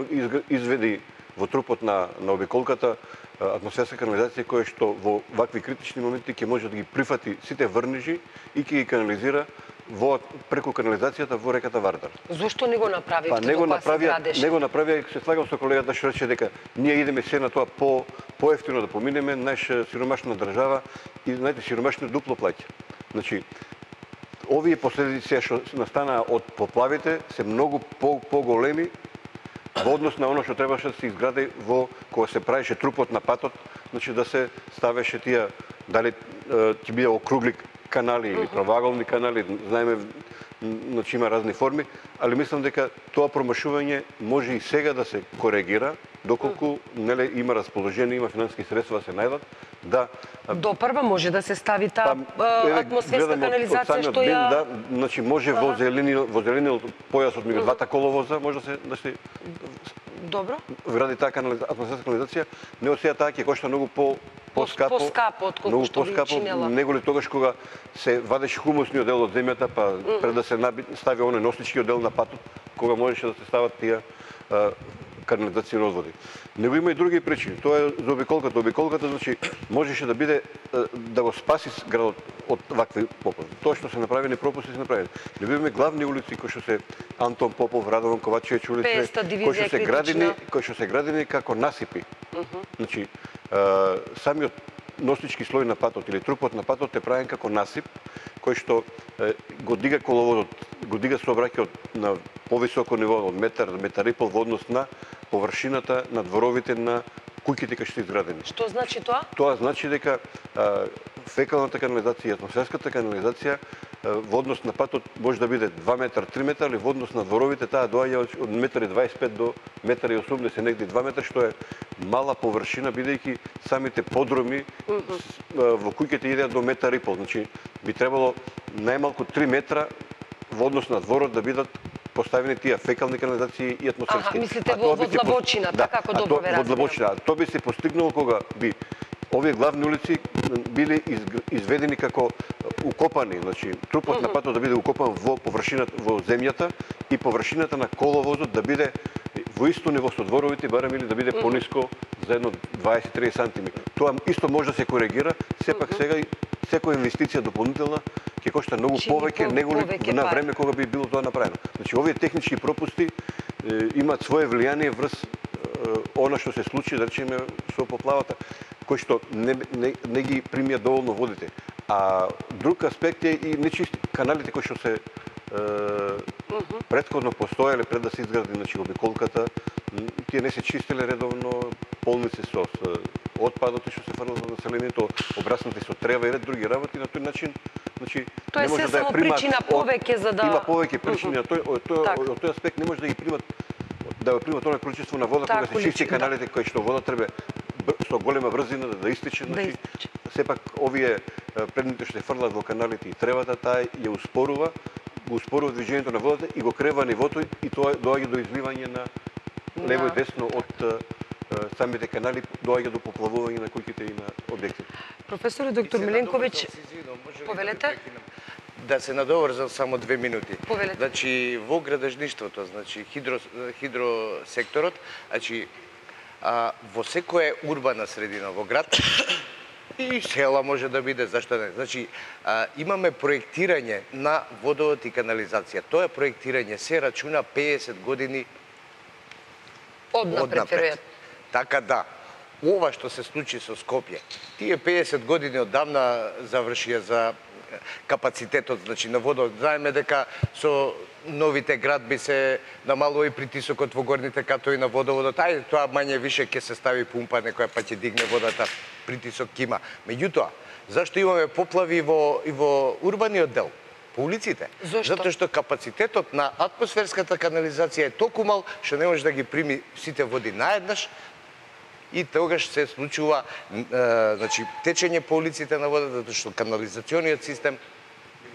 изведи во трупот на, на обиколката атмосферска канализација која што во вакви критични моменти ќе може да ги прифати сите врнежи и ќе ги канализира во преку канализацијата во реката Вардар. Зошто не го направивте па, не го кога направија, се градеше? Не го направија, се слагам со колегата што рече дека ние идеме се на тоа по поевтино да поминеме, наша сиромашна држава и знаете сиромашни дупло плаќа. Значи овие последици што настанаа од поплавите се многу по поголеми во однос на оно што требаше да се изгради во кога се правеше трупот на патот, значи да се ставеше тие дали ќе биде округли канали или правоаголни канали, знаеме, значи има разни форми, али мислам дека тоа промашување може и сега да се коригира, доколку неле има расположение, има финансиски средства да се најдат, да допрва може да се стави таа па, атмосферска канализација од, од што ја да, значи може во зелениот во зелениот појасот меѓу двата коловоза може да се да се добро вгради таа канализација, атмосферска канализација, не од сега таа ќе кошта многу по поскапо, поскапо од колку што би чинела. Него ли тогаш кога се вадеше хумусниот дел од земјата, па mm -hmm. пред да се стави оној носничкиот дел на патот, кога можеше да се стават тие канализацијни одводи. Него има и други причини. Тоа е за обиколката. Обиколката, значи, можеше да биде да го спаси градот од вакви поплави. Тоа што се направени пропусти се направени. Не имаме главни улици кои што се Антон Попов, Радован Ковачевич улица, кои што се градени, кои што се градени како насипи. Mm -hmm. Значи, самиот носнички слој на патот или трупот на патот е правен како насип, кој што е, го дига коловодот, го дига сообраќајот на повисоко ниво од метар, метар и пол во однос на површината на дворовите на куќите кои што се изградени. Што значи тоа? Тоа значи дека а, фекалната канализација и атмосферската канализација а, во однос на патот може да биде два метра, три метра, или во однос на дворовите таа доаѓа од метар и дваесет и пет до метар и осумдесет, негде два метра, што е мала површина, бидејќи самите подроми mm -hmm. во куќите идеат до метар и пол. Значи, би требало најмалку три метра во однос на дворот да бидат поставени тие фекални канализации и атмосферски. Аха, мислите во Длабочина, така како добро ве разбирам. Во Длабочина, тоа би се постигнало кога би овие главни улици биле изведени како укопани, значи трупот на патот да биде укопан во површината во земјата и површината на коловозот да биде во исто ниво со дворовите, барем или да биде пониско за едно дваесет до триесет сантиметри. Тоа исто може да се коригира, сепак сега секоја инвестиција дополнителна ќе кошта многу повеќе него на време кога би било тоа направено. Значи овие технички пропусти е, имаат свое влијание врз е, она што се случи, да речеме, со поплавата, кој што не, не, не ги примија доволно водите. А друг аспект е и нечисти каналите кои што се е, претходно постоеле пред да се изгради, значи, обиколката, тие не се чистеле редовно, полни се со отпадот што се фрлат во населението, обраснати со трева и ред други работи, на тој начин, значи, тоа не може е да ја само примат причина повеќе за да има повеќе причини, а тој од тој Так. од тој аспект не може да ги примат да ја примат тоа количество на вода Так, кога се чисти количи- каналите кои што вода треба бр- со голема брзина да, да истече, Да значи истече. сепак овие е, предмети што се фрлат во каналите и тревата, таа ја успорува, го успорува движењето на водата и го крева нивото и тоа доаѓа до изливање на лево и десно од е, е, самите канали, доаѓа до поплавување на куќите и на објектите. Професор доктор Миленковиќ, повелете? Да се надоврзам само две минути. Повелете. Значи во градежништвото, значи хидро хидросекторот, значи а, во секоја урбана средина во град и села може да биде, зашто не? Значи а, имаме проектирање на водовод и канализација. Тоа проектирање се рачуна пеесет години Однапред, веројатно. Така да, ова што се случи со Скопје, тие пеесет години одамна завршија за капацитетот, значи на водот. Знаеме дека со новите градби се намалува и притисокот во горните катови на водоводот. Ајде, тоа мање више ќе се стави пумпа, некоја па ќе дигне водата, притисок ќе има. Меѓутоа, зашто имаме поплави во и во урбаниот дел? По улиците. Зошто? Затоа што капацитетот на атмосферската канализација е толку мал што не може да ги прими сите води наеднаш и тогаш се случува е, значи течење по улиците на водата, затоа што канализациониот систем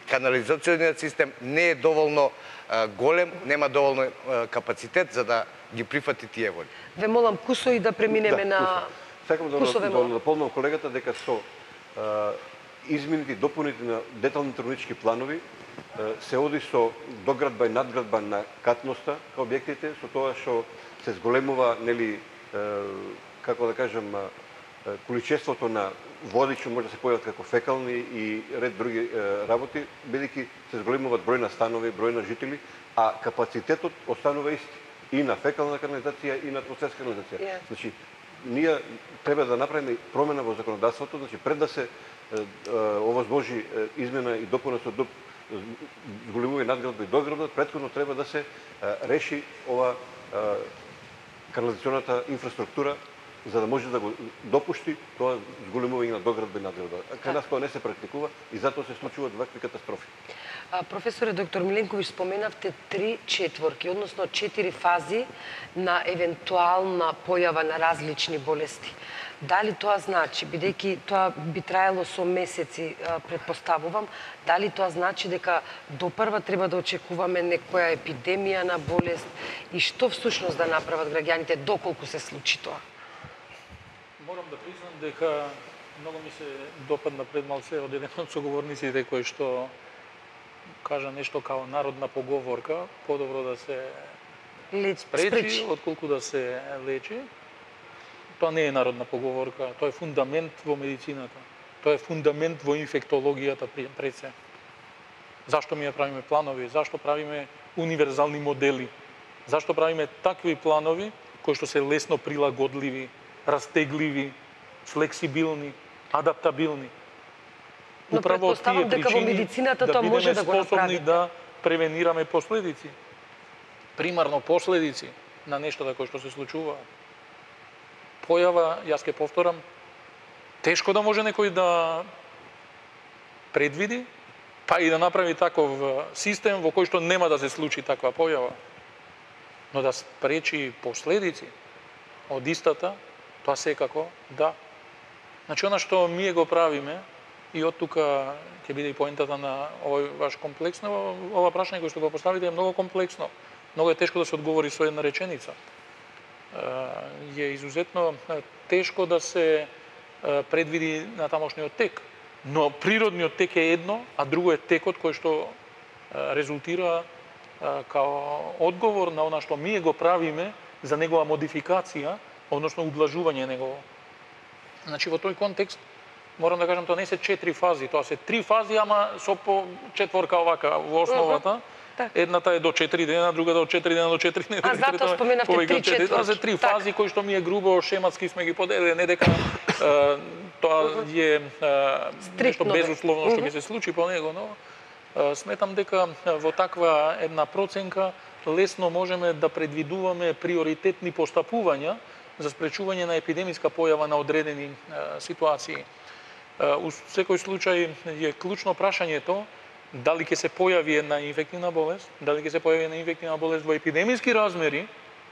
канализациониот систем не е доволно е, голем, нема доволно е, капацитет за да ги прифати тие води. Ве молам кусо и да преминеме Да, на кусо. Сакам да, Кусо ве да молам. наполнам колегата дека со а, измените и дополните на деталните урбанички планови а, се оди со доградба и надградба на катноста кај објектите, со тоа што се зголемува, нели, а, како да кажам, а, количеството на води што може да се појават како фекални и ред други а, работи, бидејќи се зголемуваат број на станови, број на жители, а капацитетот останува исти и на фекална канализација и на атмосферска канализација. Yeah. Значи, ние треба да направиме промена во законодавството, значи пред да се е, е, овозможи е, измена и допуна со доп, зголемување надградба и доградба, претходно треба да се е, реши ова е, канализационата инфраструктура за да може да го допушти тоа зголемување на доградба и надградба. Кај нас тоа не се практикува и затоа се случуваат вакви катастрофи. А, професоре доктор Миленковиќ, споменавте три четворки, односно четири фази на евентуална појава на различни болести. Дали тоа значи, бидејќи тоа би траело со месеци, предпоставувам, дали тоа значи дека до прва треба да очекуваме некоја епидемија на болест и што всушност да направат граѓаните доколку се случи тоа? Морам да признам дека многу ми се допадна пред малце од еден од соговорниците кој што кажа нешто као народна поговорка, подобро да се Леч, спречи, спречи. отколку да се лечи. Тоа не е народна поговорка, тоа е фундамент во медицината. Тоа е фундамент во инфектологијата пред се. Зашто ми ја правиме планови? Зашто правиме универзални модели? Зашто правиме такви планови кои што се лесно прилагодливи, растегливи, флексибилни, адаптабилни? Но предпоставам дека во медицината тоа може да го направите. Да превенираме последици. Примарно последици на нештата кои што се случуваат. Појава, јас ќе повторам, тешко да може некој да предвиди, па и да направи таков систем во кој што нема да се случи таква појава. Но да спречи последици од истата, тоа секако да. Значи, она што ние го правиме, И од тука ќе биде и поентата на овој ваш комплексно, ова прашање кој што го поставите е многу комплексно. Многу е тешко да се одговори со една реченица. Е изузетно тешко да се предвиди натамошниот тек. Но природниот тек е едно, а друго е текот кој што резултира као одговор на она што ние го правиме за негова модификација, односно ублажување негово. Значи во тој контекст морам да кажам, тоа не се четири фази, тоа се три фази, ама со по четворка овака во основата. Едната е до четири дена, другата од четири дена до четири недели. А затоа споменавте три четврти. Тоа се три фази кои што ми е грубо шематски сме ги поделили, не дека е, тоа е нешто безусловно што ќе се случи по него, но е, сметам дека во таква една проценка лесно можеме да предвидуваме приоритетни постапувања за спречување на епидемиска појава на одредени е, ситуации. У секој случај е клучно прашањето дали ќе се појави една инфективна болест, дали ќе се појави една инфективна болест во епидемиски размери,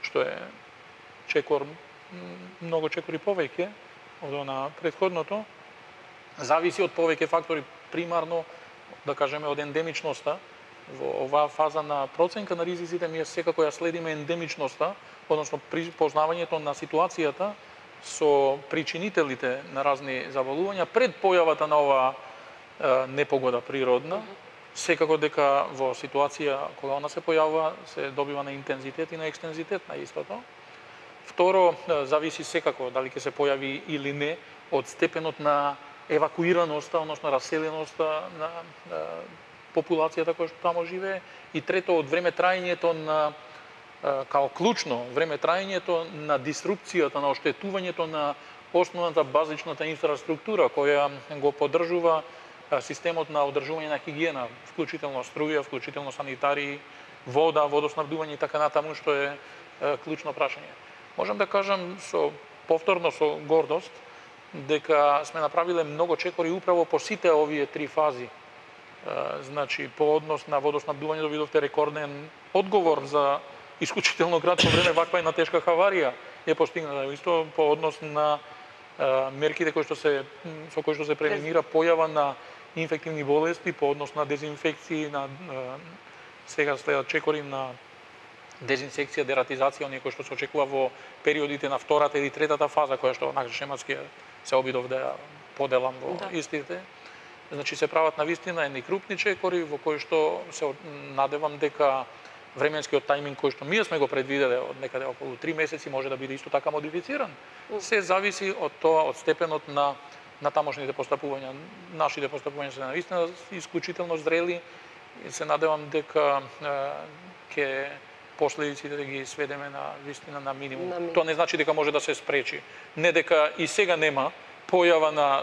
што е чекор, многу чекори повеќе од она претходното, зависи од повеќе фактори, примарно, да кажеме, од ендемичноста. Во оваа фаза на проценка на ризиците ние секако ја следиме ендемичноста, односно познавањето на ситуацијата со причинителите на разни заболувања пред појавата на оваа е, непогода природна. Секако дека во ситуација кога она се појавува се добива на интензитет и на екстензитет на истото. Второ, зависи секако дали ќе се појави или не од степенот на евакуираноста, односно раселеноста на, на популацијата која што тамо живее. И трето, од време траењето на као клучно време траењето на дисрупцијата, на оштетувањето на основната базичната инфраструктура која го поддржува системот на одржување на хигиена, вклучително струја, вклучително санитари, вода, водоснабдување и така натаму, што е, е клучно прашање. Можам да кажам со повторно со гордост дека сме направиле многу чекори управо по сите овие три фази. Е, значи по однос на водоснабдување добидовте рекорден одговор за исклучително кратко време ваква една тешка хаварија е постигната. Исто по однос на е, мерките кои што се со кои што се превенира појава на инфективни болести, по однос на дезинфекции, на е, сега следат чекори на дезинсекција, дератизација, оние кои што се очекува во периодите на втората или третата фаза, која што однак шематски се обидов да ја поделам во да. Истите. Значи се прават навистина едни крупни чекори во кои што се надевам дека временскиот тајминг кој што ние сме го предвиделе од некаде околу три месеци може да биде исто така модифициран. Се зависи од тоа, од степенот на на тамошните постапувања. Нашите постапувања се навистина исклучително зрели и се надевам дека ќе последиците да ги сведеме на вистина на минимум. На минимум. Тоа не значи дека може да се спречи. Не дека и сега нема појава на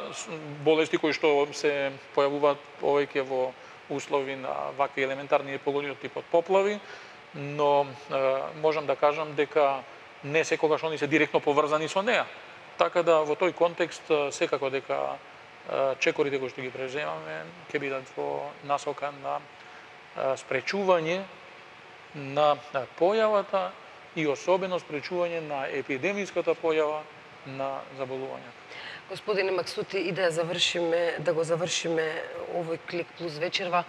болести кои што се појавуваат повеќе во услови на вакви елементарни непогоди од типот поплави, но е, можам да кажам дека не секогаш они се директно поврзани со неа. Така да во тој контекст секако дека е, чекорите кои што ги преземаме ќе бидат во насока на е, спречување на појавата и особено спречување на епидемиската појава на заболувањата. Господине Максути, и да ја завршиме, да го завршиме овој Клик плюс вечерва.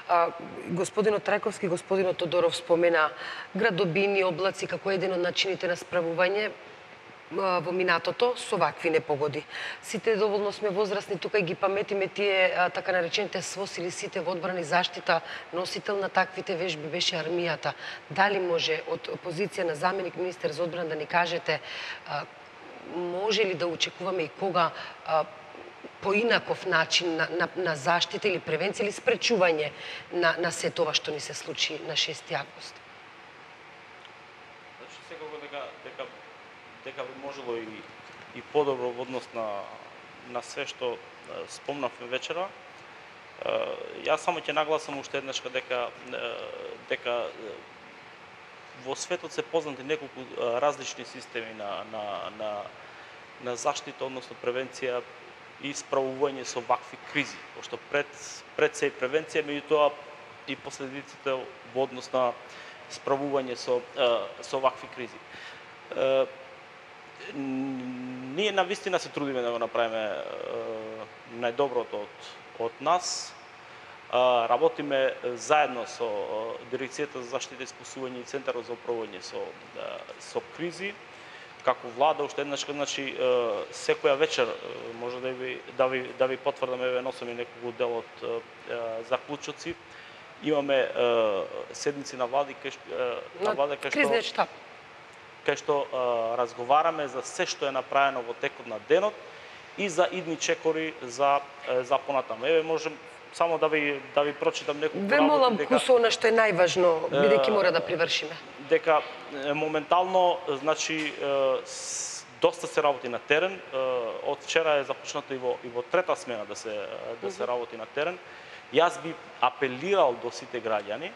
А, господинот Трајковски, господинот Тодоров спомена градобини, облаци како еден од начините на справување а, во минатото со вакви непогоди. Сите доволно сме возрастни тука и ги паметиме тие а, така наречените СВОС или сите во одбрана и заштита. Носител на таквите вежби беше армијата. Дали може од позиција на заменик министер за одбрана да ни кажете а, може ли да очекуваме и кога а, поинаков начин на, на, на заштита или превенција или спречување на, на се тоа што ни се случи на шести август? Значи, секако дека, дека, дека би можело и, и подобро во однос на, на све што спомнавме вечера. Јас само ќе нагласам уште еднаш дека, дека во светот се познати неколку различни системи на, на, на, на заштита, односно превенција и справување со вакви кризи. Пошто пред, пред се и превенција, меѓутоа и последиците во однос на справување со, со вакви кризи. ние навистина се трудиме да го направиме најдоброто од, од нас. Работиме заедно со Дирекцијата за заштита и спасување и Центарот за управување со, со кризи. Како влада, уште еднаш, значи, секоја вечер може да ви, да ви, да ви потврдам, еве носам и неколку дел од заклучоци. Имаме седници на влади кај на влада кај што штаб. кај што разговараме за се што е направено во текот на денот и за идни чекори за за понатаму. Еве можем само да ви да ви прочитам неколку Ве молам кусо она што е најважно, бидејќи мора да привршиме. Дека моментално, значи, доста се работи на терен. Од вчера е започнато и во и во трета смена да се да се работи на терен. Јас би апелирал до сите граѓани,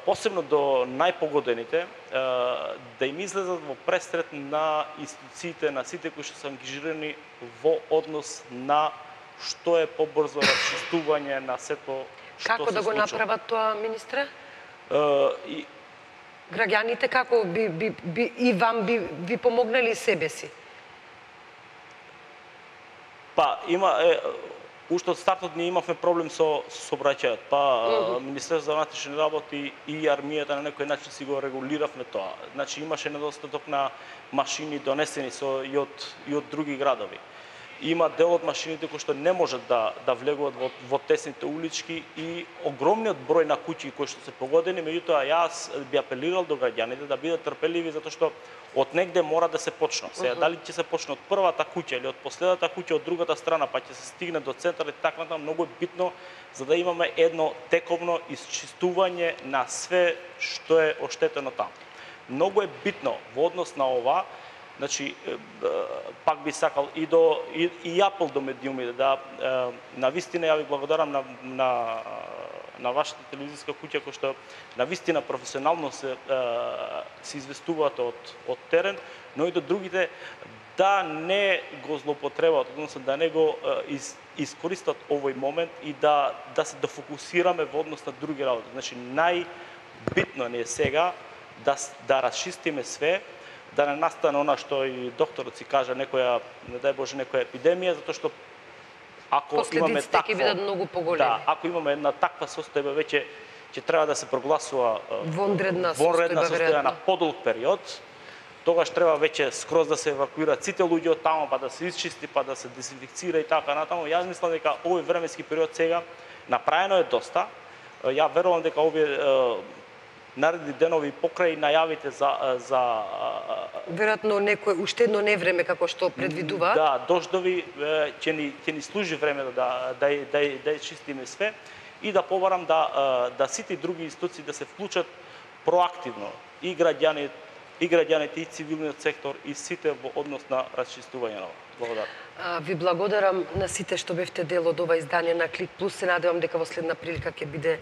посебно до најпогодените, да им излезат во пресрет на институциите, на сите кои што се ангажирани во однос на што е побрзо расчистување на сето што Како се да го случува. направат тоа, министре? И Граѓаните како би, би, би и вам би ви помогнали себе си? Па има е, уште од стартот ние имавме проблем со сообраќајот. Па uh -huh. Министерството за внатрешни работи и армијата на некој начин си го регулиравме тоа. Значи имаше недостаток на машини донесени со и од и од други градови. Има дел од машините кои што не можат да да влегуваат во, во тесните улички и огромниот број на куќи кои што се погодени, меѓутоа јас би апелирал до граѓаните да бидат трпеливи затоа што од негде мора да се почне. Сега Uh -huh. дали ќе се почне од првата куќа или од последната куќа од другата страна, па ќе се стигне до центарот и така натаму, многу е битно за да имаме едно тековно исчистување на све што е оштетено таму. Многу е битно во однос на ова. Значи, пак би сакал и до и, и апел до медиумите да на вистина ја ви благодарам на на на вашата телевизиска куќа која што на вистина професионално се се известуваат од од терен, но и до другите да не го злоупотребаат, односно да не го из, искористат овој момент и да да се дофокусираме во однос на други работи. Значи најбитно не е сега да да расчистиме све, да не настане она што и докторот си кажа, некоја, не дај Боже, некоја епидемија, затоа што ако имаме такво, ќе бидат многу поголеми. Да, ако имаме една таква состојба, веќе ќе треба да се прогласува вонредна вонредна состојба, состојба на веројатно. подолг период. Тогаш треба веќе скроз да се евакуираат сите луѓе од таму, па да се исчисти, па да се дезинфекцира и така натаму. Јас мислам дека овој временски период сега направено е доста. Ја верувам дека овие наредни денови покрај најавите за за веројатно некој уште едно невреме како што предвидува. Да, дождови ќе ни ќе ни служи време да да да да чистиме све и да побарам да да сите други институции да се вклучат проактивно и граѓани и граѓаните и цивилниот сектор и сите во однос на расчистување на ова. Благодарам. Ви благодарам на сите што бевте дел од ова издание на Клик Плюс. Се надевам дека во следна прилика ќе биде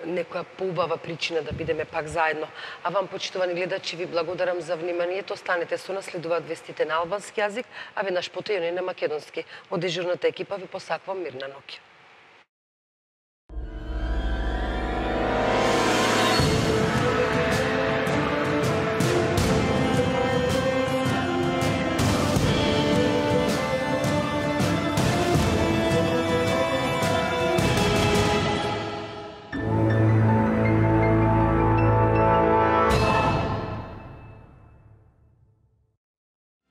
некоја поубава причина да бидеме пак заедно. А вам, почитувани гледачи, ви благодарам за вниманието. Останете со нас, следуваат вестите на албански јазик, а веднаш потоа и на македонски. Од дежурната екипа ви посакувам мирна ноќ.